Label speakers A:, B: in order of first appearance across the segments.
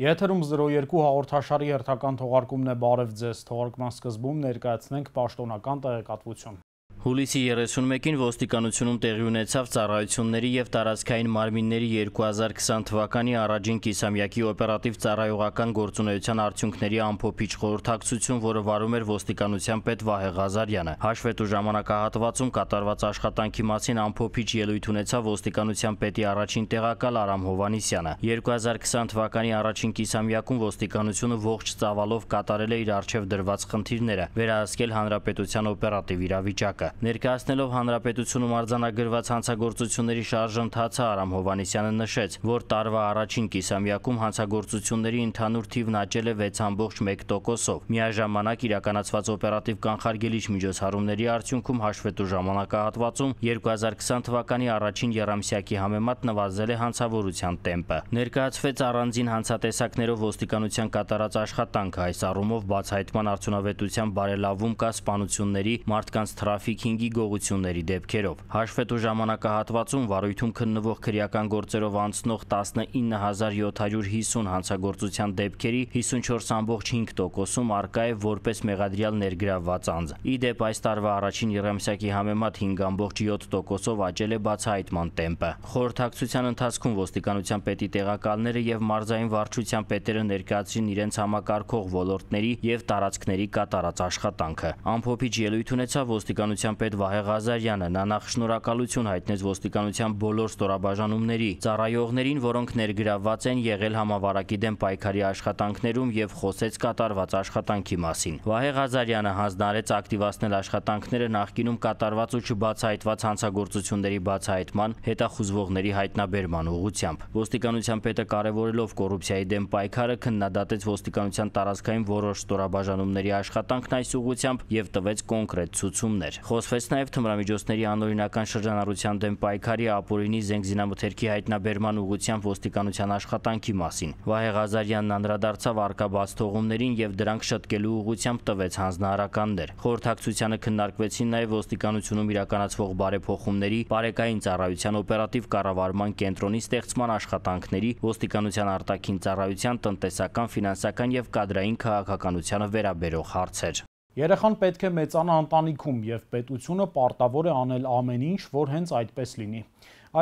A: Եթերում 02 հաղորդաշարի հերթական թողարկումն է, բարև ձեզ, թողարկման սկզբում ներկայացնենք պաշտոնական տեղեկատվություն։
B: Հուլիսի 31-ին ոստիկանությունում տեղի ունեցավ ծառայությունների և տարածքային մարմինների 2020 թվականի առաջին կիսամյակի օպերատիվ ծառայողական գործունեության արդյունքների ամփոփիչ խորհրդակցություն, որը վարում էր ոստիկանության պետ Վահե Ղազարյանը։ Հաշվետու ժամանակահատվածում կատարված աշխատանքի մասին ամփոփիչ ելույթ ունեցավ ոստիկանության պետի առաջին տեղակալ Արամ Հովհաննիսյանը։ 2020 թվականի առաջին կիսամյակում ոստիկանությունը ողջ ծավալով կատարել է իր առջև դրված խնդիրները, վերահսկել հանրապետության օպերատիվ իրավիճակը։ Ներկայացնելով հանրապետությունում արձանագրված հանցագործությունների շարժընթացը Արամ Հովհաննիսյանը նշեց, որ տարվա առաջին կիսամյակում հանցագործությունների ընդհանուր թիվն աճել է 6.1%-ով։ Միաժամանակ իրականացված օպերատիվ կանխարգելիչ միջոցառումների արդյունքում հաշվետու ժամանակահատվածում 2020 թվականի առաջին եռամսյակի համեմատ նվազել է հանցավորության տեմպը։ Ներկայացվեց առանձին հանցատեսակներով ոստիկանության կատարած աշխատանքը, այս առումով բացահայտման արդյունավետության բարելավում կա սպանությունների, մարդկանց թրաֆիքինգի գողությունների դեպքերով։ Հաշվետու ժամանակահատվածում վարույթում քննվող քրեական գործերով անցնող 19750 հանցագործության դեպքերի 54.5%-ում առկա է որպես մեղադրյալ ներգրավված անձ։ Ի դեպ, այս տարվա առաջին եռամսյակի համեմատ 5.7%-ով աճել է բացահայտման տեմպը։ Խորհրդակցության ընթացքում ոստիկանության պետի տեղակալները և մարզային վարչության պետերը ներկայացրին իրենց համակարգող ոլորտների և տարածքների կատարած աշխատանքը։ Ամփոփիչ ելույթ ունեցավ ոստիկանության պետ Վահե Ղազարյանը։ Նա նախ շնորհակալություն հայտնեց ոստիկանության բոլոր ստորաբաժանումների ծառայողներին, որոնք ներգրավված են եղել համավարակի դեմ պայքարի աշխատանքներում և խոսեց կատարված աշխատանքի մասին։ Վահե Ղազարյանը հանձնարարեց ակտիվացնել աշխատանքները նախկինում կատարված ու չբացահայտված հանցագործությունների բացահայտման, հետախուզվողների հայտնաբերման ուղղությամբ։ Ոստիկանության պետը կարևորելով կոռուպցիայի դեմ պայքարը քննադատեց ոստիկանության տարածքային որոշ ստորաբաժանումների աշխատանքն այս ուղղությամբ և տվեց կոնկրետ ցուցումներ։ Խոսվեց նաև թմրամիջոցների անօրինական շրջանառության դեմ պայքարի, ապօրինի զենգզինամթերքի հայտնաբերման ուղղությամբ ոստիկանության աշխատանքի մասին։ Վահե Ղազարյանն անդրադարձավ առկա բացթողումներին և դրանք շտկելու ուղղությամբ տվեց հանձնարարականներ։ Խորհրդակցությանը քննարկվեցին նաև ոստիկանությունում իրականացվող բարեփոխումների, բարեկային ծառայության օպերատիվ կառավարման կենտրոնի ստեղծման աշխատանքների, ոստիկանության արտաքին ծառայության, տնտեսական, ֆինանսական և կադրային քաղաքականությանը վերաբերող հարցեր։
A: Երեխան պետք է մեծանա ընտանիքում և պետությունը պարտավոր է անել ամեն ինչ, որ հենց այդպես լինի։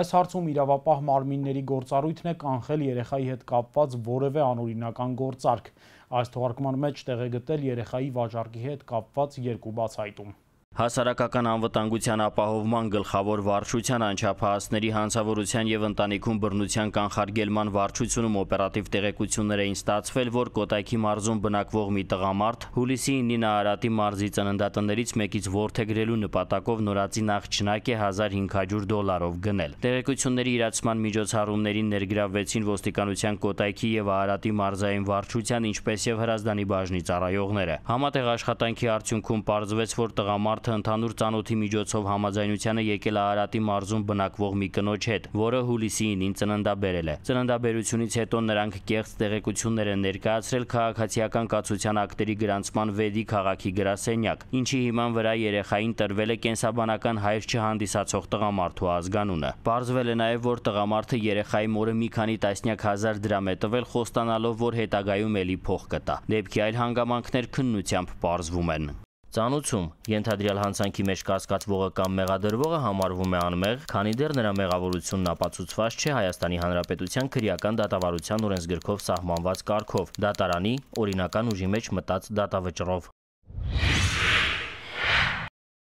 A: Այս հարցում իրավապահ մարմինների գործառույթն է կանխել երեխայի հետ կապված որևէ անօրինական գործարք։ Այս թողարկման մեջ տեղ է գտել երեխայի վաճառքի հետ կապված երկու բացահայտում։
B: Հասարակական անվտանգության ապահովման գլխավոր վարչության անչափահասների հանցավորության և ընտանիքում բռնության կանխարգելման վարչությունում օպերատիվ տեղեկություններ էին ստացվել, որ Կոտայքի մարզում բնակվող մի տղամարդ հուլիսի 9-ին Արարատի մարզի ծննդատներից մեկից որդեգրելու նպատակով նորածին աղջնակ է $1500 գնել։ Տեղեկությունների իրացման միջոցառումներին ներգրավվեցին ոստիկանության Կոտայքի և Արարատի մարզային վարչության, ինչպես և Հրազդանի բաժնի ծառայողները։ Համատեղ աշխատանքի արդյունքում պարզվեց, որ տղամարդը ընդհանուր ծանոթի միջոցով համաձայնության է եկել Արարատի մարզում բնակվող մի կնոջ հետ, որը հուլիսի 9-ին ծննդաբերել է։ Ծննդաբերությունից հետո նրանք կեղծ տեղեկություններ են ներկայացրել քաղաքացիական կացության ակտերի գրանցման վեդի քաղաքի գրասենյակ, ինչի հիման վրա երեխային տրվել է կենսաբանական հայր չհանդիսացող տղամարդու ազգանունը։ Պարզվել է նաև, որ տղամարդը երեխայի մորը մի քանի տասնյակ հազար դրամ է տվել, խոստանալով, որ հետագայում էլի փող կտա։ Դեպքի այլ հանգամանքներ քննությամբ պարզվում են։ Ծանուցում ենթադրյալ հանցանքի մեջ կասկածվողը կամ մեղադրվողը համարվում է անմեղ, քանի դեռ նրա մեղավորությունն ապացուցված չէ Հայաստանի Հանրապետության քրեական դատավարության օրենսգրքով սահմանված կարգով, դատարանի օրինական ուժի մեջ մտած դատավճռով։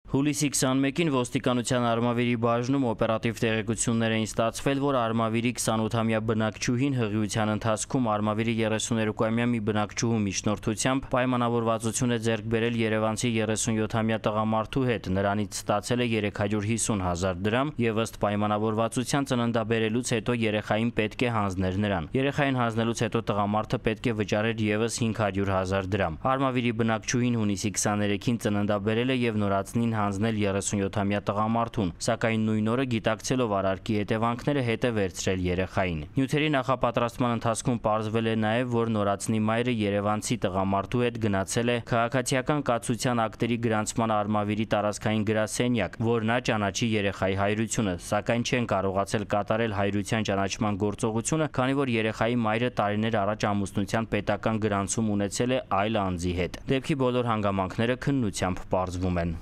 B: Հուլիսի 21-ին ոստիկանության Արմավիրի բաժնում օպերատիվ տեղեկություններ էին ստացվել, որ Արմավիրի 28-ամյա բնակչուհին հղիության ընթացքում Արմավիրի 32-ամյա մի բնակչուհու միջնորդությամբ պայմանավորվածություն է ձեռք բերել երևանցի 37-ամյա տղամարդու հետ, նրանից ստացել է $350,000 դրամ և ըստ պայմանավորվածության ծննդաբերելուց հետո երեխային պետք է հանձներ նրան։ Երեխային հանձնելուց հետո տղամարդը պետք է վճարեր ևս $500,000 դրամ։ Արմավիրի բնակչուհին հունիսի 23-ին ծննդաբերել է և նորածնին հանձնել 37-ամյա տղամարդուն, սակայն նույն օրը գիտակցելով արարքի հետևանքները հետ է վերցրել երեխային։ Նյութերի նախապատրաստման ընթացքում պարզվել է նաև, որ նորածնի մայրը երևանցի տղամարդու հետ գնացել է քաղաքացիական կացության ակտերի գրանցման արմավիրի տարածքային գրասենյակ, որ նա ճանաչի երեխայի հայրությունը, սակայն չեն կարողացել կատարել հայրության ճանաչման գործողությունը, քանի որ երեխայի մայրը տարիներ առաջ ամուսնության պետական գրանցում ունեցել է այլ անձի հետ։ Դեպքի բոլոր հանգամանքները քննությամբ պարզվում են։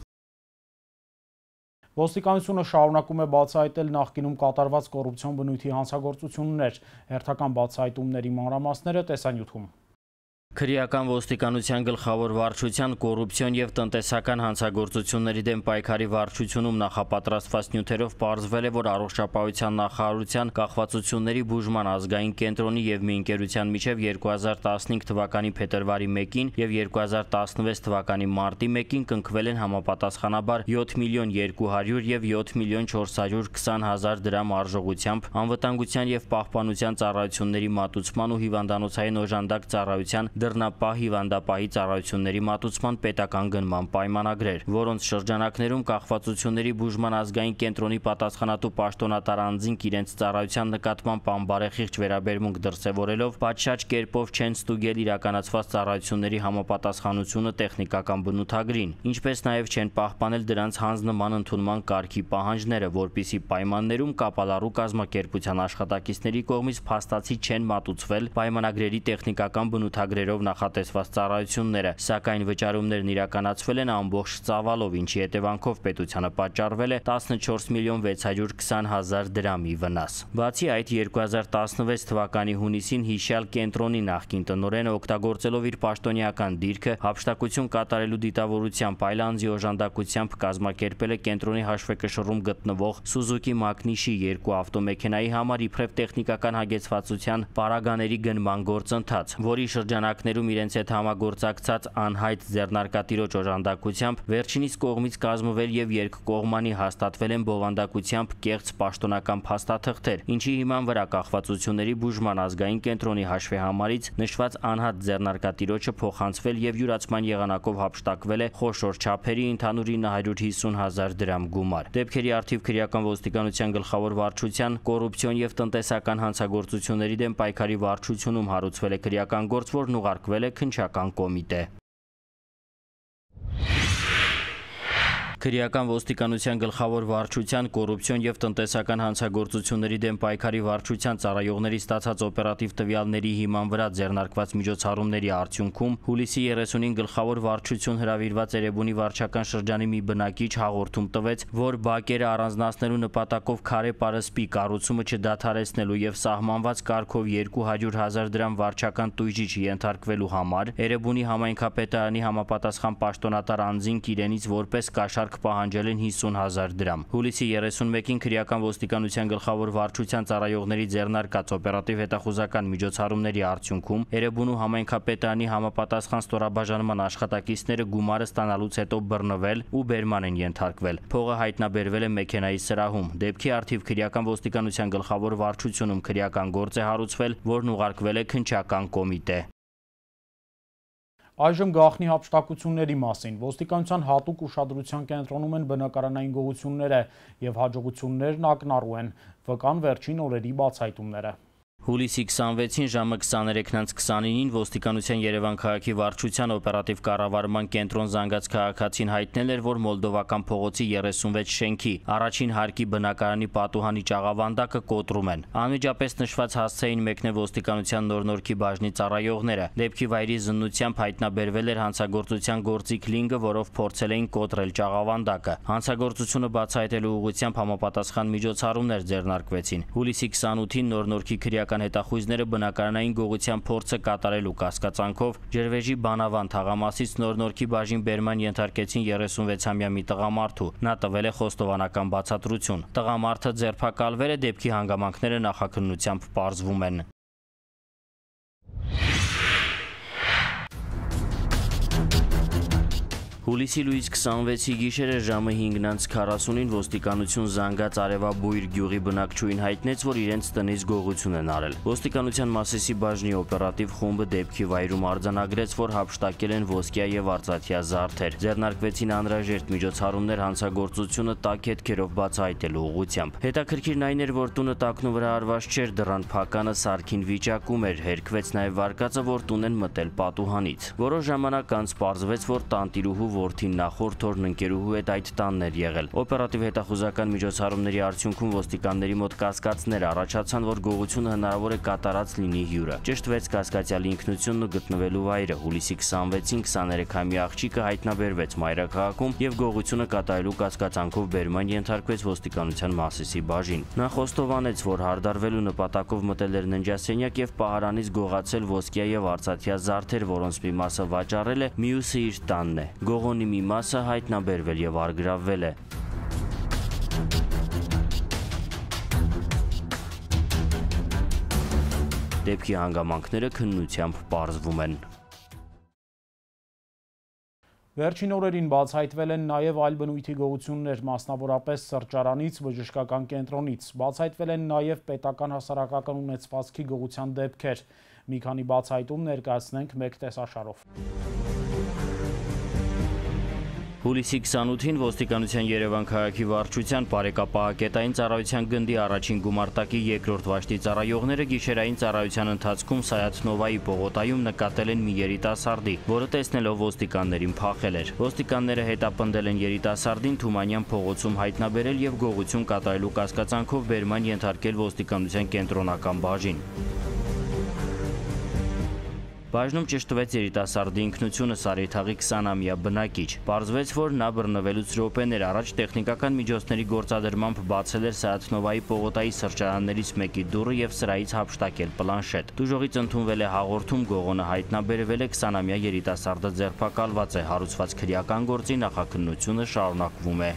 A: Ոստիկանությունը շարունակում է բացահայտել նախկինում կատարված կոռուպցիոն բնույթի հանցագործություններ, հերթական բացահայտումների մանրամասները տեսանյութում։
B: Քրեական ոստիկանության գլխավոր վարչության կոռուպցիոն եւ տնտեսական հանցագործությունների դեմ պայքարի վարչությունում նախապատրաստված նյութերով պարզվել է, որ առողջապահության նախարարության կախվածությունների բուժման ազգային կենտրոնի եւ մի ընկերության միջև 2015 թվականի փետրվարի 1-ին եւ 2016 թվականի մարտի 1-ին կնքվել են համապատասխանաբար 7 միլիոն 200 եւ 7 միլիոն 420 հազար դրամ արժողությամբ անվտանգության եւ պահպանության ծառայությունների մատուցման ու հիվանդանոցային օժանդակ ծառայության դռնապահ հիվանդապահի ծառայությունների մատուցման պետական գնման պայմանագրեր, որոնց շրջանակներում կախվածությունների բուժման ազգային կենտրոնի պատասխանատու պաշտոնատար անձինք իրենց ծառայության նկատմամբ անբարեխիղճ վերաբերմունք դրսևորելով պատշաճ կերպով չեն ստուգել իրականացված ծառայությունների համապատասխանությունը տեխնիկական բնութագրին, ինչպես նաև չեն պահպանել դրանց հանձնման ընդունման կարգի պահանջները, որպիսի պայմաններում կապալառու կազմակերպության աշխատակիցների կողմից փաստացի չեն մատուցվել պայմանագրերի տեխնիկական բնութագրերով նախատեսված ծառայությունները, սակայն վճարումներն իրականացվել են ամբողջ ծավալով, ինչի հետևանքով պետությանը պատճառվել է 14 միլիոն 620 հազար դրամի վնաս։ Բացի այդ, 2016 թվականի հունիսին հիշյալ կենտրոնի նախկին տնօրենը օգտագործելով իր պաշտոնեական դիրքը հափշտակություն կատարելու դիտավորությամբ այլ անձի օժանդակությամբ կազմակերպել է կենտրոնի հաշվեկշռում գտնվող Սուզուկի Մակնիշի 2 ավտոմեքենայի համար իբրև տեխնիկական հագեցվածության պարագաների գնման գործընթաց, որի շրջանակներում իրենց հետ համագործակցած անհայտ ձեռնարկատիրոջ օժանդակությամբ վերջինիս կողմից կազմվել եւ երկկողմանի հաստատվել են բովանդակությամբ կեղծ պաշտոնական փաստաթղթեր, ինչի հիման վրա կախվածությունների բուժման ազգային կենտրոնի հաշվեհամարից նշված անհատ ձեռնարկատիրոջը փոխանցվել եւ յուրացման եղանակով հափշտակվել է խոշոր չափերի ընդհանուր 950 հազար դրամ գումար։ Դեպքերի առթիվ քրեական ոստիկանության գլխավոր վարչության կոռուպցիոն եւ տնտեսական հանցագործությունների դեմ պայքարի վարչությունում հարուցվել է քրեական գործ, որն ուղարկվել է քննչական կոմիտե։ Քրեական ոստիկանության գլխավոր վարչության կոռուպցիոն եւ տնտեսական հանցագործությունների դեմ պայքարի վարչության ծառայողների ստացած օպերատիվ տվյալների հիման վրա ձեռնարկված միջոցառումների արդյունքում հուլիսի 30-ին գլխավոր վարչություն հրավիրված Էրեբունի վարչական շրջանի մի բնակիչ հաղորդում տվեց, որ բակերը առանձնացնելու նպատակով քարե պարսպի կառուցումը չդադարեցնելու եւ սահմանված կարգով 200 հազար դրամ վարչական տույժի չենթարկվելու համար Էրեբունի համայնքապետարանի համապատասխան պաշտոնատար անձինք իրենից որպես կաշառք պահանջել են 50 հազար դրամ։ Հուլիսի 31-ին քրեական ոստիկանության գլխավոր վարչության ծառայողների ձեռնարկած օպերատիվ հետախուզական միջոցառումների արդյունքում Էրեբունու համայնքապետարանի համապատասխան ստորաբաժանման աշխատակիցները գումարը ստանալուց հետո բռնվել ու բերման են ենթարկվել։ Փողը հայտնաբերվել է մեքենայի սրահում։ Դեպքի առթիվ քրեական ոստիկանության գլխավոր վարչությունում քրեական գործ է հարուցվել, որն ուղարկվել է քննչական կոմիտե։
A: Այժմ գաղտնի հափշտակությունների մասին։ Ոստիկանության հատուկ ուշադրության կենտրոնում են բնակարանային գողությունները եւ հաջողություններն ակնառու են, վկան վերջին օրերի բացահայտումները։
B: Հուլիսի 26-ին ժամը 23:29-ին ոստիկանության Երևան քաղաքի վարչության օպերատիվ կառավարման կենտրոն զանգած քաղաքացին հայտնել էր, որ Մոլդովական փողոցի 36 շենքի առաջին հարկի բնակարանի պատուհանի ճաղավանդակը կոտրում են։ Անմիջապես նշված հասցեին մեկնել ոստիկանության նոր-նորքի բաժնի ծառայողները։ Դեպքի վայրի զննությամբ հայտնաբերվել էր հանցագործության գործիք լինգը, որով փորձել էին կոտրել ճաղավանդակը։ Հանցագործությունը բացահայտելու ուղղությամբ համապատասխան միջոցառումներ ձեռնարկվեցին։ Հուլիսի 28-ին նոր-նորքի քրեական հետախույզները բնակարանային գողության փորձը կատարելու կասկածանքով Ջրվեժի Բանավան թաղամասից նոր-նորքի բաժին բերման ենթարկեցին 36-ամյա մի տղամարդու։ Նա տվել է խոստովանական բացատրություն։ Տղամարդը ձերբակալվել է, դեպքի հանգամանքները նախաքննությամբ պարզվում են։ Հուլիսի լույս 26-ի գիշերը ժամը 5:40-ին ոստիկանություն զանգած Արևաբույր գյուղի բնակչուհին հայտնեց, որ իրենց տնից գողություն են արել։ Ոստիկանության Մասիսի բաժնի օպերատիվ խումբը դեպքի վայրում արձանագրեց, որ հափշտակել են ոսկյա եւ արծաթյա զարդեր։ Ձեռնարկվեցին անհրաժեշտ միջոցառումներ հանցագործությունը տաք հետքերով բացահայտելու ուղղությամբ։ Հետաքրքիրն այն էր, որ տունը տակնու վրա արված չէր, դռան փականը սարքին վիճակում էր, հերքվեց նաեւ վարկածը, որ տուն են մտել պատուհանից։ Որոշ ժամանակ անց պարզվեց, որ տանտիրուհու որդին նախորդ օրն ընկերուհու հետ այդ տանն էր եղել։ Օպերատիվ հետախուզական միջոցառումների արդյունքում ոստիկանների մոտ կասկածներ առաջացան, որ գողությունը հնարավոր է կատարած լինի հյուրը։ Ճշտվեց կասկածյալի ինքնությունն ու գտնվելու վայրը։ Հուլիսի 26-ին 23-ամյա աղջիկը հայտնաբերվեց մայրաքաղաքում եւ գողությունը կատարելու կասկածանքով բերման ենթարկվեց ոստիկանության Մասիսի բաժին։ Նա խոստովանեց, որ հարդարվելու նպատակով մտել էր ննջասենյակ եւ պահարանից գողացել ոսկյա եւ արծաթյա զարդեր, որոնց մի մասը վաճառել է, մյուսը իր տանն է։ Գողոնի մի մասը հայտնաբերվել եւ առգրավվել է։ Դեպքի հանգամանքները քննությամբ պարզվում են։
A: Վերջին օրերին բացահայտվել են նաև այլ բնույթի գողություններ, մասնավորապես սրճարանից, բժշկական կենտրոնից։ Բացահայտվել են նաև պետական հասարակական ունեցվածքի գողության դեպքեր։ Մի քանի բացահայտում ներկայացնենք մեկ տեսաշարով։
B: Հուլիսի 28-ին ոստիկանության Երևան քաղաքի վարչության բարեկապահակետային ծառայության գնդի առաջին գումարտակի երկրորդ վաշտի ծառայողները գիշերային ծառայության ընթացքում Սայաթ-Նովայի պողոտայում նկատել են մի երիտասարդի, որը տեսնելով ոստիկաններին փախել էր։ Ոստիկանները հետապնդել են երիտասարդին Թումանյան փողոցում հայտնաբերել եւ գողություն կատարելու կասկածանքով բերման ենթարկել ոստիկանության կենտրոնական բաժին։ Բաժնում ճշտվեց երիտասարդի ինքնությունը Սարիթաղի 20-ամյա բնակիչ։ Պարզվեց, որ նա բռնվելուց րոպեներ առաջ տեխնիկական միջոցների գործադրմամբ բացել էր Սայաթ-Նովայի պողոտայի սրճարաններից մեկի դուռը եւ սրայից հափշտակել պլանշետ։ Դժողից ընդունվել է հաղորդում, գողոնը հայտնաբերվել է, 20-ամյա երիտասարդը ձերբակալված է, հարուցված քրեական գործի նախաքննությունը շարունակվում է։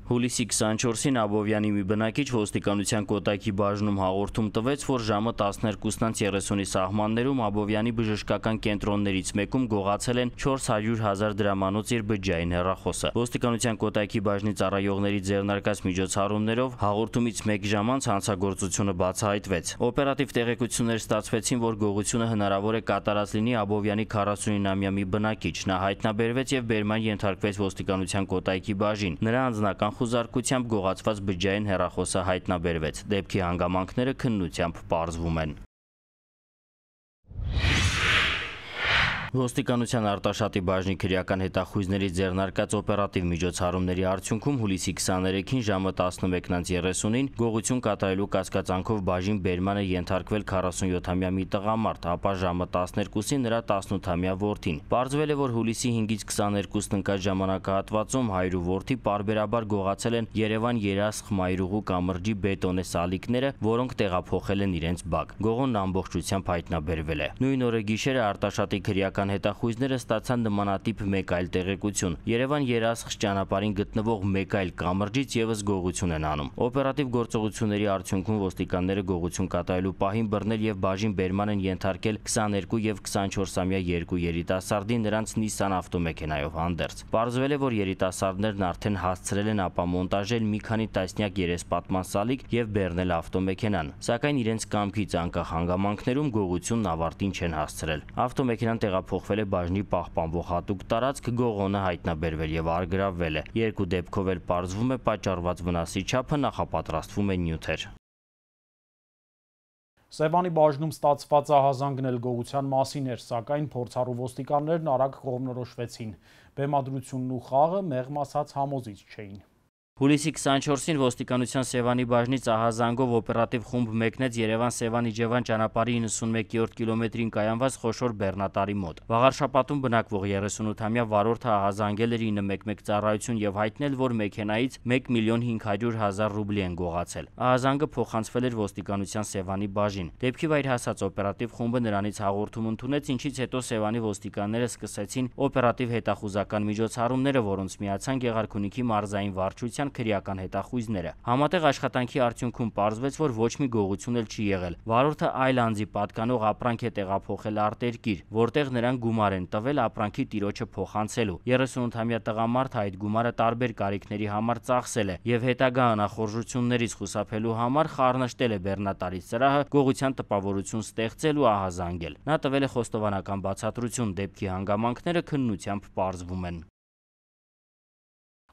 B: Հուլիսի 24-ին Աբովյանի մի բնակիչ ոստիկանության Կոտայքի բաժնում հաղորդում տվեց, որ ժամը 12:30-ի սահմաններում Աբովյանի բժշկական կենտրոններից մեկում գողացել են 400,000 դրամանոց իր բջջային հեռախոսը։ Ոստիկանության Կոտայքի բաժնի ծառայողների ձեռնարկած միջոցառումներով հաղորդումից 1 ժամ անց հանցագործությունը բացահայտվեց։ Օպերատիվ տեղեկություններ ստացվեցին, որ գողությունը հնարավոր է կատարած լինի Աբովյանի 49-ամյա մի բնակիչ։ Նա հայտնաբերվեց եւ բերման ենթարկվեց ոստիկանության Կոտայքի բաժին։ Նրա անձնական խուզարկությամբ գողացված բջջային հեռախոսը հայտնաբերվեց։ Դեպքի հանգամանքները քննությամբ պարզվում են։ Ոստիկանության Արտաշատի բաժնի քրեական հետախույզների ձեռնարկած օպերատիվ միջոցառումների արդյունքում հուլիսի 23-ին ժամը 11:30-ին գողություն կատարելու կասկածանքով բաժին բերման է ենթարկվել 47-ամյա մի տղամարդ, ապա ժամը 12-ին նրա 18-ամյա որդին։ Պարզվել է, որ հուլիսի 5-ից 22-ն ընկած ժամանակահատվածում հայր ու որդի պարբերաբար գողացել են Երևան Երասխ Մայրուղու կամրջի բետոնե սալիկները, որոնք տեղափոխել են իրենց բակ։ Գողոնն ամբողջությամբ հայտնաբերվել է։ Նույն օրը գիշերը Արտաշատի քրեական հետախույզները ստացան նմանատիպ մեկ այլ տեղեկություն։ Երևան Երասխ ճանապարհին գտնվող մեկ այլ կամրջից եւս գողություն են անում։ Օպերատիվ գործողությունների արդյունքում ոստիկանները գողություն կատարելու պահին բռնել եւ բաժին բերման են ենթարկել 22 եւ 24-ամյա երկու երիտասարդի, նրանց Nissan ավտոմեքենայով հանդերձ։ Պարզվել է, որ երիտասարդներն արդեն հասցրել են ապամոնտաժել մի քանի տասնյակ երեսպատման սալիկ եւ բեռնել ավտոմեքենան, սակայն իրենց կամքից անկախ հանգամանքներում գողությունն ավարտին չեն հասցրել։ Ավտոմեքենան տեղափոխվել է բաժնի պահպանվող հատուկ տարածք, գողոնը հայտնաբերվել եւ առգրավվել է։ Երկու դեպքով էլ պարզվում է պատճառված վնասի չափը, նախապատրաստվում են նյութեր։
A: Սևանի բաժնում ստացված ահազանգն էլ գողության մասին էր, սակայն փորձառու ոստիկաններն արագ կողմնորոշվեցին։ Բեմադրությունն ու խաղը մեղմ ասած համոզիչ չէին։
B: Հուլիսի 24-ին ոստիկանության Սևանի բաժնից ահազանգով օպերատիվ խումբ մեկնեց Երևան-Սևան-Իջևան ճանապարհի 91-րդ կիլոմետրին կայանված խոշոր բեռնատարի մոտ։ Վաղարշապատում բնակվող 38-ամյա վարորդը ահազանգել էր 911 ծառայություն եւ հայտնել, որ մեքենայից 1,500,000 ռուբլի են գողացել։ Ահազանգը փոխանցվել էր ոստիկանության Սևանի բաժին։ Դեպքի վայր հասած օպերատիվ խումբը նրանից հաղորդում ընդունեց, ինչից հետո Սևանի ոստիկանները սկսեցին օպերատիվ հետախուզական միջոցառումները, որոնց միացան Գեղարքունիքի մարզային վարչության անվտանգության քրեական հետախույզները։ Համատեղ աշխատանքի արդյունքում պարզվեց, որ ոչ մի գողություն էլ չի եղել։ Վարորդը այլ անձի պատկանող ապրանք է տեղափոխել արտերկիր, որտեղ նրան գումար են տվել ապրանքի տիրոջը փոխանցելու։ 38-ամյա տղամարդը այդ գումարը տարբեր կարիքների համար ծախսել է եւ հետագա անախորժություններից խուսափելու համար խառնշտել է բեռնատարի սրահը, գողության տպավորություն ստեղծել ու ահազանգել։ Նա տվել է խոստովանական բացատրություն, դեպքի հանգամանքները քննությամբ պարզվում են։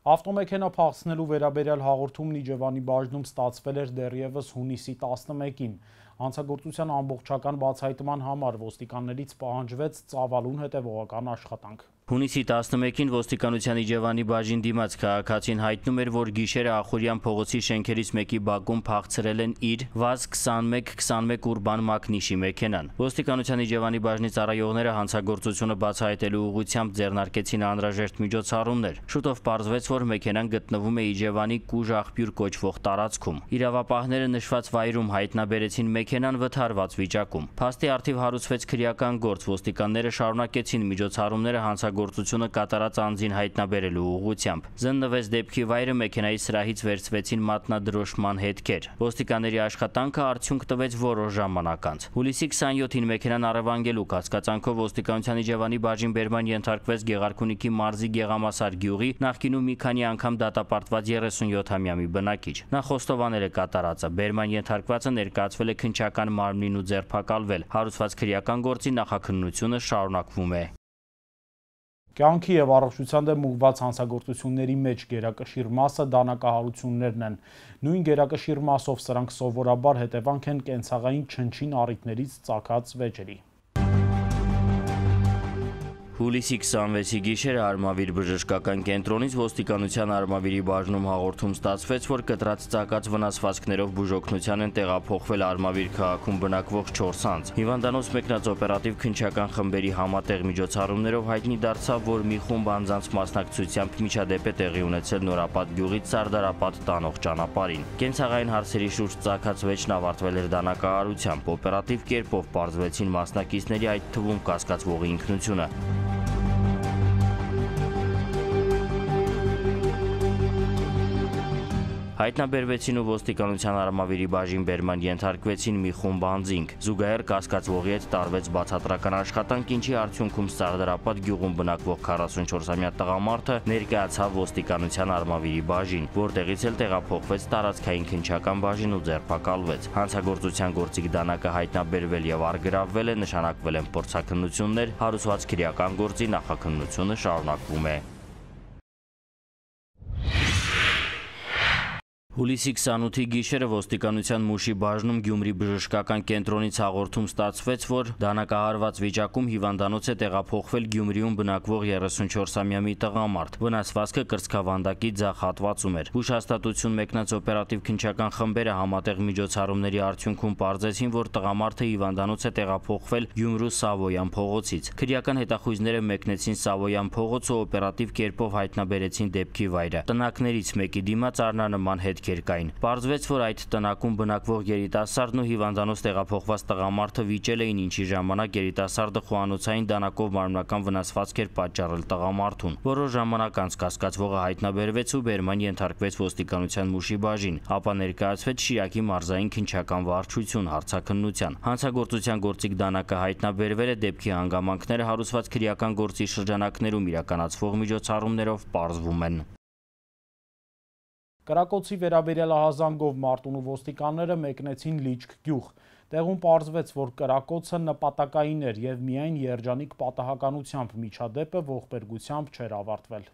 A: Ավտոմեքենա փախցնելու վերաբերյալ հաղորդումն Իջևանի բաժնում ստացվել էր դեռևս հունիսի 11-ին։ Հանցագործության ամբողջական բացահայտման համար ոստիկաններից պահանջվեց ծավալուն հետևողական աշխատանք։
B: Հունիսի 11-ին ոստիկանության Իջևանի բաժին դիմաց քաղաքացին հայտնում էր, որ գիշերը Ախուրյան փողոցի շենքերից մեկի բակում փախցրել են իր ՎԱԶ 2121 ուրբան մակնիշի մեքենան։ Ոստիկանության Իջևանի բաժնի ծառայողները հանցագործությունը բացահայտելու ուղղությամբ ձեռնարկեցին անհրաժեշտ միջոցառումներ։ Շուտով պարզվեց, որ մեքենան գտնվում է Իջևանի Կուժ աղբյուր կոչվող տարածքում։ Իրավապահները նշված վայրում հայտնաբերեցին մեքենան վթարված վիճակում։ Փաստի առթիվ հարուցվեց քրեական գործ, ոստիկանները շարունակեցին միջոցառումները հանցագործությունը կատարած անձին հայտնաբերելու ուղղությամբ։ Զննվեց դեպքի վայրը, մեքենայի սրահից վերցվեցին մատնադրոշման հետքեր։ Ոստիկանների աշխատանքը արդյունք տվեց որոշ ժամանակ անց։ Հուլիսի 27-ին մեքենան առևանգելու կասկածանքով ոստիկանության Իջևանի բաժին բերման ենթարկվեց Գեղարքունիքի մարզի Գեղամասար գյուղի նախկինում մի քանի անգամ դատապարտված 37-ամյա մի բնակիչ։ Նա խոստովանել է կատարածը։ Բերման ենթարկվածը ներկայացվել է քննչական մարմնին ու ձերբակալվել։ Հարուցված քրեական գործի նախաքննությունը շարունակվում է։
A: Կյանքի եւ առողջության դեմ ուղղված հանցագործությունների մեջ գերակշիռ մասը դանակահարություններն են։ Նույն գերակշիռ մասով սրանք սովորաբար հետևանք են կենցաղային չնչին առիթներից ծագած վեճերի։
B: Հուլիսի 26-ի գիշերը Արմավիր բժշկական կենտրոնից ոստիկանության Արմավիրի բաժնում հաղորդում ստացվեց, որ կտրած ծակած վնասվածքներով բուժօգնության են տեղափոխվել Արմավիր քաղաքում բնակվող 4 անձ։ Հիվանդանոց մեկնած օպերատիվ քննչական խմբերի համատեղ միջոցառումներով հայտնի դարձավ, որ մի խումբ անձանց մասնակցությամբ միջադեպ է տեղի ունեցել Նորապատ գյուղից Սարդարապատ տանող ճանապարհին։ Կենցաղային հարցերի շուրջ ծագած վեճն ավարտվել էր դանակահարությամբ։ Օպերատիվ կերպով պարզվեցին մասնակիցների, այդ թվում կասկածվողի ինքնությունը։ Հայտնաբերվեցին ու ոստիկանության Արմավիրի բաժին բերման ենթարկվեցին մի խումբ անձինք։ Զուգահեռ կասկածվողի հետ տարվեց բացատրական աշխատանք, ինչի արդյունքում Սարդարապատ գյուղում բնակվող 44-ամյա տղամարդը ներկայացավ ոստիկանության Արմավիրի բաժին, որտեղից էլ տեղափոխվեց տարածքային քննչական բաժին ու ձերբակալվեց։ Հանցագործության գործիք դանակը հայտնաբերվել եւ առգրավվել է, նշանակվել են փորձաքննություններ, հարուցված քրեական գործի նախաքննությունը շարունակվում է։ Հուլիսի 28-ի գիշերը ոստիկանության Մուշի բաժնում Գյումրի բժշկական կենտրոնից հաղորդում ստացվեց, որ դանակահարված վիճակում հիվանդանոց է տեղափոխվել Գյումրիում բնակվող 34-ամյա մի տղամարդ։ Վնասվածքը կրծքավանդակի ձախ հատվածում էր։ Հուշհաստատություն մեկնած օպերատիվ քննչական խմբերը համատեղ միջոցառումների արդյունքում պարզեցին, որ տղամարդը հիվանդանոց է տեղափոխվել Գյումրու Սավոյան փողոցից։ Քրեական հետախույզները մեկնեցին Սավոյան փողոց ու օպերատիվ կերպով հայտնաբերեցին դեպքի վայրը։ Տնակներից մեկի դիմաց առնանման հետ Պարզվեց, որ այդ տնակում բնակվող երիտասարդն ու հիվանդանոց տեղափոխված տղամարդը վիճել էին, ինչի ժամանակ երիտասարդը խոհանոցային դանակով մարմնական վնասվածք էր պատճառել տղամարդուն։ Որոշ ժամանակ անց կասկածվողը հայտնաբերվեց ու բերման ենթարկվեց ոստիկանության Մուշի բաժին, ապա ներկայացվեց Շիրակի մարզային քննչական վարչություն հարցաքննության։ Հանցագործության գործիք դանակը հայտնաբերվել է, դեպքի հանգամանքները հարուցված քրեական գործի շրջանակներում իրականացվող միջոցառումներով պարզվում են։
A: Կրակոցի վերաբերյալ ահազանգով Մարտունու ոստիկանները մեկնեցին Լիճք գյուղ։ Տեղում պարզվեց, որ կրակոցը նպատակային էր եւ միայն երջանիկ պատահականությամբ միջադեպը ողբերգությամբ չէր ավարտվել։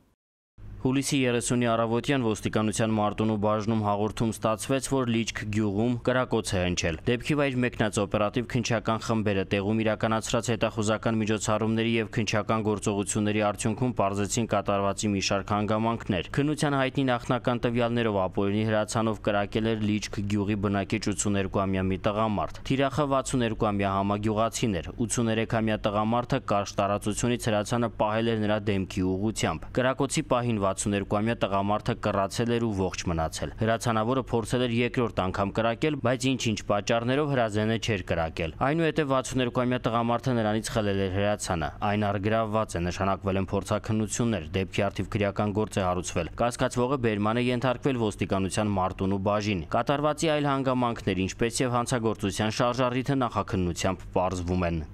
B: Հուլիսի 30-ի առավոտյան ոստիկանության Մարտունու բաժնում հաղորդում ստացվեց, որ Լիճք գյուղում կրակոց է հնչել։ Դեպքի վայր մեկնած օպերատիվ քննչական խմբերը տեղում իրականացրած հետախուզական միջոցառումների եւ քննչական գործողությունների արդյունքում պարզեցին կատարվածի մի շարք հանգամանքներ։ Քննության հայտնի նախնական տվյալներով ապօրինի հրացանով կրակել էր Լիճք գյուղի բնակիչ 82-ամյա մի տղամարդ։ Թիրախը 62-ամյա համագյուղացին էր։ 83-ամյա տղամարդը կարճ տարածությունից հրացանը պահել էր նրա դեմքի ուղղությամբ։ Կրակոցի պահին 62-ամյա տղամարդը կռացել էր ու ողջ մնացել։ Հրացանավորը փորձել էր երկրորդ անգամ կրակել, բայց ինչ-ինչ պատճառներով հրազենը չէր կրակել։ Այնուհետև 62-ամյա տղամարդը նրանից խլել էր հրացանը։ Այն առգրավված է, նշանակվել են փորձաքննություններ, դեպքի առթիվ քրեական գործ է հարուցվել։ Կասկածվողը բերման է ենթարկվել ոստիկանության Մարտունու բաժին։ Կատարվածի այլ հանգամանքներ, ինչպես եւ հանցագործության շարժառիթը նախաքննությամբ պարզվում են։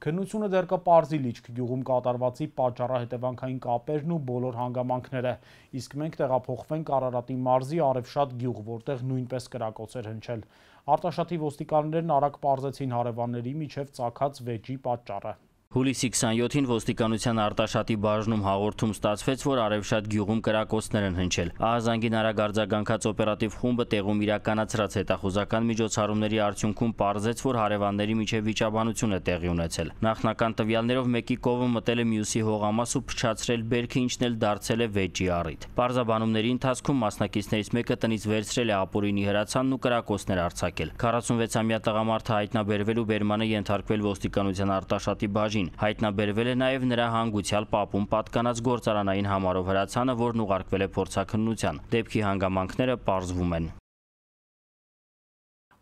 A: Քննությունը դեռ կպարզի Լիճք գյուղում կատարվածի պատճառահետևանքային կապերն ու բոլոր հանգամանքները, իսկ մենք տեղափոխվենք Արարատի մարզի Արևշատ գյուղ, որտեղ նույնպես կրակոց էր հնչել։ Արտաշատի ոստիկաններն արագ պարզեցին հարևանների միջև ծագած վեճի պատճառը։
B: Հուլիսի 27-ին ոստիկանության Արտաշատի բաժնում հաղորդում ստացվեց, որ Արևշատ գյուղում կրակոցներ են հնչել։ Ահազանգին արագ արձագանքած օպերատիվ խումբը տեղում իրականացրած հետախուզական միջոցառումների արդյունքում պարզեց, որ հարևանների միջև վիճաբանություն է տեղի ունեցել։ Նախնական տվյալներով մեկի կովը մտել է մյուսի հողամաս ու փչացրել բերքը, ինչն էլ դարձել է վեճի առիթ։ Պարզաբանումների ընթացքում մասնակիցներից մեկը տնից վերցրել է ապօրինի հրացանն ու կրակոցներ արձակել։ 46-ամյա տղամարդը հայտնաբերվել ու բերման է ենթարկվել ոստիկանության Արտաշատի բաժին։ Հայտնաբերվել է նաև նրա հանգուցյալ պապում պատկանած գործարանային համարով հրացանը, որն ուղարկվել է փորձաքննության։ Դեպքի հանգամանքները պարզվում են։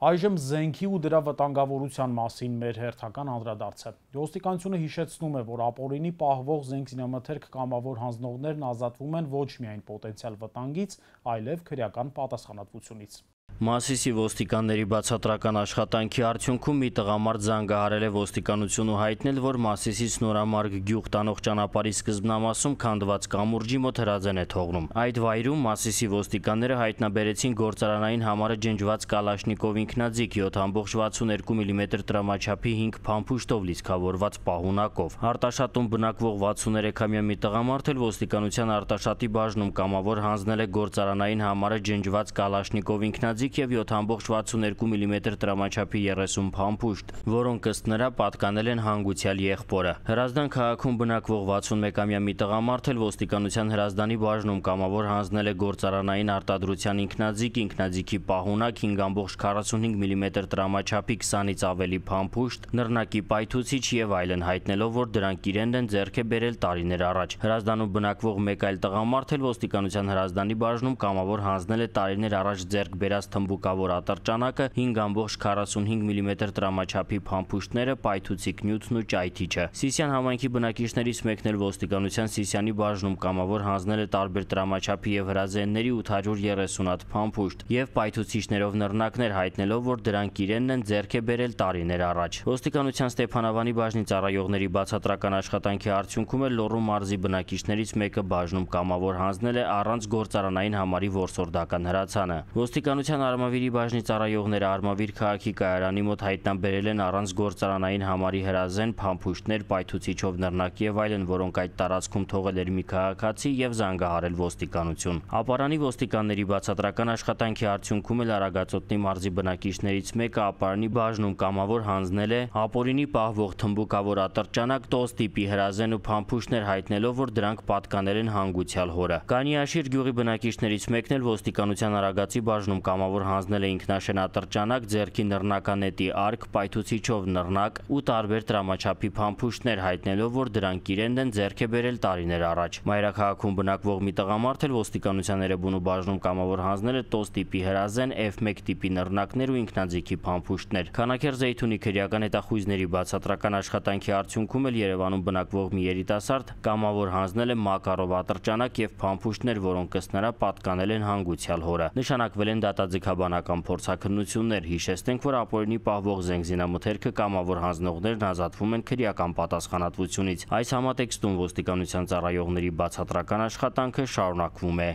A: Այժմ զենքի ու դրա վտանգավորության մասին մեր հերթական անդրադարձը։ Ոստիկանությունը հիշեցնում է, որ ապօրինի պահվող զենք զինամթերք կամավոր հանձնողներն ազատվում են ոչ միայն պոտենցիալ վտանգից, այլև քրեական պատասխանատվությունից։
B: Մասիսի ոստիկանների բացատրական աշխատանքի արդյունքում մի տղամարդ զանգահարել է ոստիկանություն ու հայտնել, որ Մասիսից Նորամարգ գյուղ տանող ճանապարհի սկզբնամասում քանդված կամուրջի մոտ հրազեն է թողնում։ Այդ վայրում Մասիսի ոստիկանները հայտնաբերեցին գործարանային համարը ջնջված Կալաշնիկով ինքնաձիգ 7.62 մմ տրամաչափի 5 փամփուշտով լիցքավորված պահունակով։ Արտաշատում բնակվող 63-ամյա մի տղամարդ էլ ոստիկանության Արտաշատի բաժնում կամավոր հանձնել է գործարանային համարը ջնջված Կալաշնիկով ինքնաձիգ եւ 7.62 մմ տրամաչափի 30 փամփուշտ, որոնք ըստ նրա պատկանել են հանգուցյալ եղբորը։ Հրազդան քաղաքում բնակվող 61-ամյա մի տղամարդ էլ ոստիկանության Հրազդանի բաժնում կամավոր հանձնել է գործարանային արտադրության ինքնաձիգի պահունակ 5.45 մմ տրամաչափի 20-ից ավելի փամփուշտ, նռնակի պայթուցիչ եւ այլն, հայտնելով, որ դրանք իրեն են ձեռք է բերել տարիներ առաջ։ Հրազդանում բնակվող մեկ այլ տղամարդ էլ ոստիկանության Հրազդանի բաժնում կամավոր հանձնել է տարիներ առաջ ձեռք բերած թմբուկավոր ատրճանակը, 5.45 մմ տրամաչափի փամփուշտները, պայթուցիկ նյութն ու ճայթիչը։ Սիսիան համայնքի բնակիչներից մեկն էլ ոստիկանության Սիսիանի բաժնում կամավոր հանձնել է տարբեր տրամաչափի եւ հրազենների 830 հատ փամփուշտ եւ պայթուցիչներով նռնակներ, հայտնելով, որ դրանք իրենն են ձեռք է բերել տարիներ առաջ։ Ոստիկանության Ստեփանավանի բաժնի ծառայողների բացատրական աշխատանքի արդյունքում էլ Լոռու մարզի բնակիչներից մեկը բաժնում կամավոր հանձնել է առանց գործարանային համարի որսորդական հրացանը։ Ոստիկանության Արմավիրի բաժնի ծառայողները Արմավիր քաղաքի կայարանի մոտ հայտնաբերել են առանց գործարանային համարի հրազեն, փամփուշտներ, պայթուցիչով նռնակ եւ այլն, որոնք այդ տարածքում թողել էր մի քաղաքացի եւ զանգահարել ոստիկանություն։ Ապարանի ոստիկանների բացատրական աշխատանքի արդյունքում էլ Արագածոտնի մարզի բնակիչներից մեկը Ապարանի բաժնում կամավոր հանձնել է ապօրինի պահվող թմբուկավոր ատրճանակ, տոս տիպի հրազեն ու փամփուշտներ, հայտնելով, որ դրանք պատկանել են հանգուցյալ հորը։ Կանիաշիր գյուղի բնակիչներից մեկն էլ ոստիկանության Արագածի բաժնում կամավոր հանձնել է ինքնաշեն ատրճանակ, ձեռքի նռնականետի արկ, պայթուցիչով նռնակ ու տարբեր տրամաչափի փամփուշտներ, հայտնելով, որ դրանք իրեն են ձեռք է բերել տարիներ առաջ։ Մայրաքաղաքում բնակվող մի տղամարդ էլ ոստիկանության Էրեբունու բաժնում կամավոր հանձնել է տոս տիպի հրազեն, F1 տիպի նռնակներ ու ինքնաձիգի փամփուշտներ։ Քանաքեր Զեյթունի քրեական հետախույզների բացատրական աշխատանքի արդյունքում էլ Երևանում բնակվող մի երիտասարդ կամավոր հանձնել է Մակարով ատրճանակ եւ փամփուշտներ, որոնք ըստ նրա պատկանել են հանգուցյալ հորը։ Նշանակվել են դատաձգաբանական փորձաքննություններ։ Հիշեցնենք, որ ապօրինի պահվող զենգզինամթերքը կամավոր հանձնողներն ազատվում են քրեական պատասխանատվությունից։ Այս համատեքստում ոստիկանության ծառայողների բացատրական աշխատանքը շարունակվում է։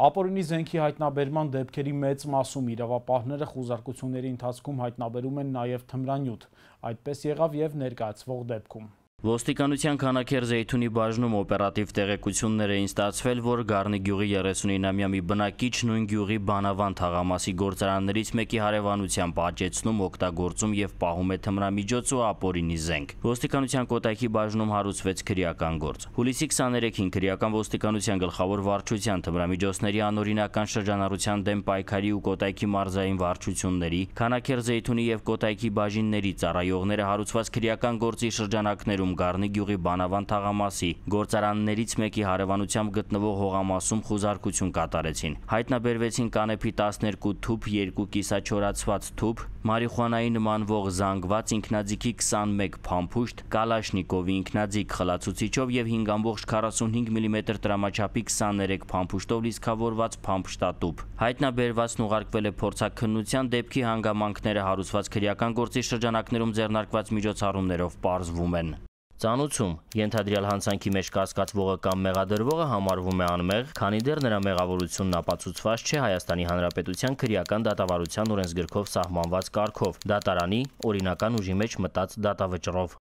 A: Ապօրինի զենքի հայտնաբերման դեպքերի մեծ մասում իրավապահները խուզարկությունների ընթացքում հայտնաբերում են նաև թմրանյութ։ Այդպես եղավ եւ ներկայացվող դեպքում։
B: Ոստիկանության Քանաքեր Զեյթունի բաժնում օպերատիվ տեղեկություններ էին ստացվել, որ Գառնի գյուղի 39-ամյա մի բնակիչ նույն գյուղի Բանավան թաղամասի գործարաններից մեկի հարևանությամբ աճեցնում, օգտագործում եւ պահում է թմրամիջոց ու ապօրինի զենք։ Ոստիկանության Կոտայքի բաժնում հարուցվեց քրեական գործ։ Հուլիսի 23-ին քրեական ոստիկանության գլխավոր վարչության թմրամիջոցների անօրինական շրջանառության դեմ պայքարի ու Կոտայքի մարզային վարչությունների, Քանաքեր Զեյթունի եւ Կոտայքի բաժինների ծառայողները հարուցված քրեական գործի շրջանակներում Գյուղում Գառնի գյուղի Բանավան թաղամասի գործարաններից մեկի հարևանությամբ գտնվող հողամասում խուզարկություն կատարեցին։ Հայտնաբերվեցին կանեփի 12 թուփ, 2 կիսաչորացված թուփ, մարիխուանայի նմանվող զանգված ինքնաձիգի 21 փամփուշտ, կալաշնիկովի ինքնաձիգ խլացուցիչով եւ 5.45 մմ տրամաչափի 23 փամփուշտով լիցքավորված փամփշտատուփ։ Հայտնաբերվածն ուղարկվել է փորձաքննության, դեպքի հանգամանքները հարուցված քրեական գործի շրջանակներում ձեռնարկված միջոցառումներով պարզվում են։ Ծանուցում ենթադրյալ հանցանքի մեջ կասկածվողը կամ մեղադրվողը համարվում է անմեղ, քանի դեռ նրա մեղավորությունն ապացուցված չէ Հայաստանի Հանրապետության քրեական դատավարության օրենսգրքով սահմանված կարգով, դատարանի օրինական ուժի մեջ մտած դատավճռով։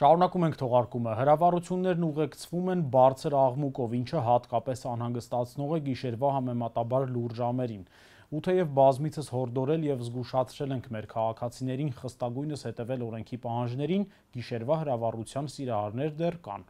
A: Շարունակում ենք թողարկումը։ Հրավառություններն ուղեկցվում են բարձր աղմուկով, ինչը հատկապես անհանգստացնող է գիշերվա համեմատաբար լուռ ժամերին։ Ու թեև բազմիցս հորդորել եւ զգուշացրել ենք մեր քաղաքացիներին խստագույնս հետևել օրենքի պահանջներին, գիշերվա հրավառության սիրահարներ դեռ կան։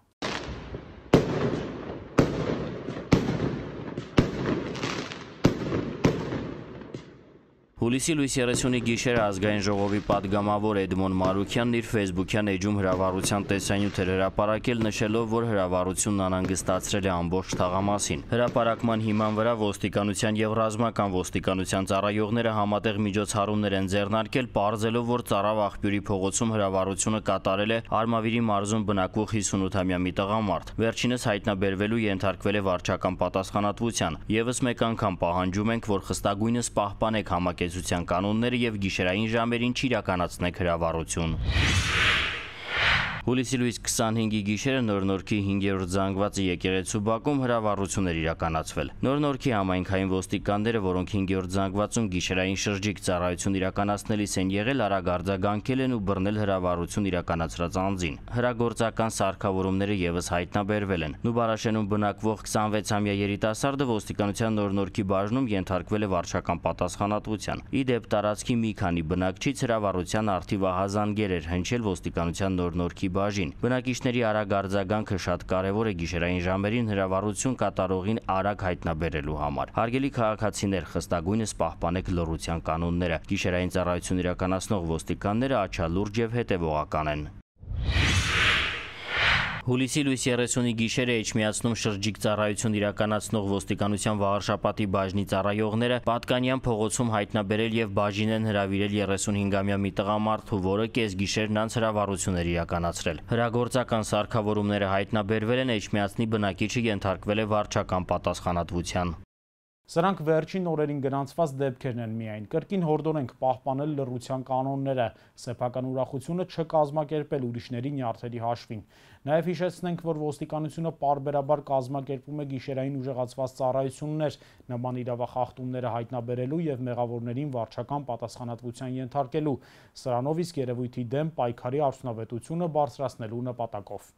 B: Հուլիսի լույս 30-ի գիշերը ազգային ժողովի պատգամավոր Էդմոն Մարուքյանն իր ֆեյսբուքյան էջում հրավառության տեսանյութեր հրապարակել, նշելով, որ հրավառությունն անհանգստացրել է ամբողջ թաղամասին։ Հրապարակման հիման վրա ոստիկանության եւ ռազմական ոստիկանության ծառայողները համատեղ միջոցառումներ են ձեռնարկել, պարզելով, որ Ծարավ աղբյուրի փողոցում հրավառությունը կատարել է Արմավիրի մարզում բնակվող 58-ամյա մի տղամարդ։ Վերջինս հայտնաբերվելու ենթարկվել է վարչական պատասխանատվության։ Եվս մեկ անգամ պահանջում ենք, որ խստագույնս պահպանեք համակեցության կանոնները եւ գիշերային ժամերին չիրականացնեք հրավառություն։ Հուլիսի լույս 25-ի գիշերը Նոր Նորքի 5-րդ զանգվածի եկեղեցու բակում հրավառություն էր իրականացվել։ Նոր Նորքի համայնքային ոստիկանները, որոնք 5-րդ զանգվածում գիշերային շրջիկ ծառայություն իրականացնելիս են եղել, արագ արձագանքել են ու բռնել հրավառություն իրականացրած անձին։ Հրագործական սարքավորումները եւս հայտնաբերվել են։ Նուբարաշենում բնակվող 26-ամյա երիտասարդը ոստիկանության Նոր Նորքի բաժնում ենթարկվել է վարչական պատասխանատվության։ Ի դեպ տարածքի մի քանի բնակչից հրավառության արդիվ ահազանգեր էր հնչել ոստիկանության Նոր Նորքի բաժին։ Բնակիչների արագ արձագանքը շատ կարևոր է գիշերային ժամերին հրավառություն կատարողին արագ հայտնաբերելու համար։ Հարգելի քաղաքացիներ, խստագույնս պահպանեք լռության կանոնները։ Գիշերային ծառայություն իրականացնող ոստիկանները աչալուրջ եւ հետեւողական են։ Հուլիսի լույս 30-ի գիշերը Էջմիածնում շրջիկ ծառայություն իրականացնող ոստիկանության Վաղարշապատի բաժնի ծառայողները Պատկանյան փողոցում հայտնաբերել եւ բաժին են հրավիրել 35-ամյա մի տղամարդու, որը կեսգիշերն անց հրավառություն էր իրականացրել։ Հրագործական սարքավորումները հայտնաբերվել են, Էջմիածնի բնակիչը ենթարկվել է վարչական պատասխանատվության։
A: Սրանք վերջին օրերին գրանցված դեպքերն են միայն։ Կրկին հորդորենք պահպանել լռության կանոնները, սեփական ուրախությունը չկազմակերպել ուրիշների նյարդերի հաշվին։ Նաև հիշեցնենք, որ ոստիկանությունը պարբերաբար կազմակերպում է գիշերային ուժեղացված ծառայություններ, նման իրավախախտումները հայտնաբերելու եւ մեղավորներին վարչական պատասխանատվության ենթարկելու, սրանով իսկ երևույթի դեմ պայքարի արդյունավետությունը բարձրացնելու նպատակով։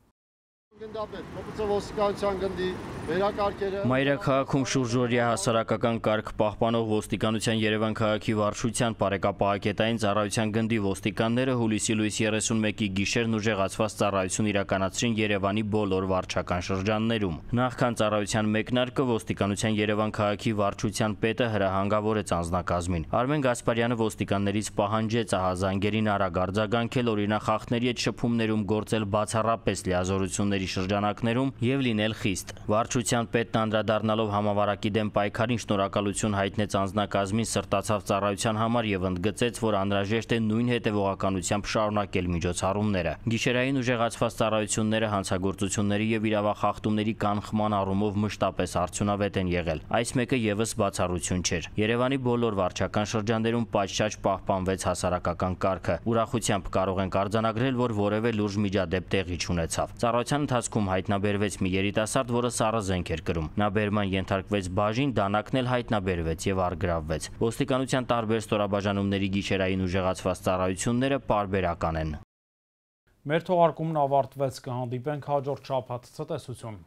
B: Մայրաքաղաքում շուրջօրյա հասարակական կարգ պահպանող ոստիկանության Երևան քաղաքի վարչության պարեկապահակետային ծառայության գնդի ոստիկանները հուլիսի լույս 31-ի գիշերն ուժեղացված ծառայություն իրականացրին Երևանի բոլոր վարչական շրջաններում։ Նախքան ծառայության մեկնարկը ոստիկանության Երևան քաղաքի վարչության պետը հրահանգավորեց անձնակազմին։ Արմեն Գասպարյանը ոստիկաններից պահանջեց ահազանգերին արագ արձագանքել, օրինախախտների հետ շփումներում գործել բացառապես լիազորությունների շրջանակներում եւ լինել խիստ։ Վարչության պետն անդրադառնալով համավարակի դեմ պայքարին շնորհակալություն հայտնեց անձնակազմին սրտացավ ծառայության համար եւ ընդգծեց, որ անհրաժեշտ է նույն հետեւողականությամբ շարունակել միջոցառումները։ Գիշերային ուժեղացված ծառայությունները հանցագործությունների եւ իրավախախտումների կանխման առումով մշտապես արդյունավետ են եղել։ Այս մեկը եւս բացառություն չէր։ Երևանի բոլոր վարչական շրջաններում պատշաճ պահպանվեց հասարակական կարգը։ Ուրախությամբ կարող ենք արձանագրել, որ որևէ լուրջ միջադեպ տեղի չունեցավ։ Ծառայության ընթացքում հայտնաբերվեց մի երիտասարդ, որը սառը զենք էր կրում։ Նա բերման ենթարկվեց բաժին, դանակն էլ հայտնաբերվեց եւ առգրավվեց։ Ոստիկանության տարբեր ստորաբաժանումների գիշերային ուժեղացված ծառայությունները պարբերական են։
A: Մեր թողարկումն ավարտվեց, կհանդիպենք հաջորդ շաբաթ, ցտեսություն։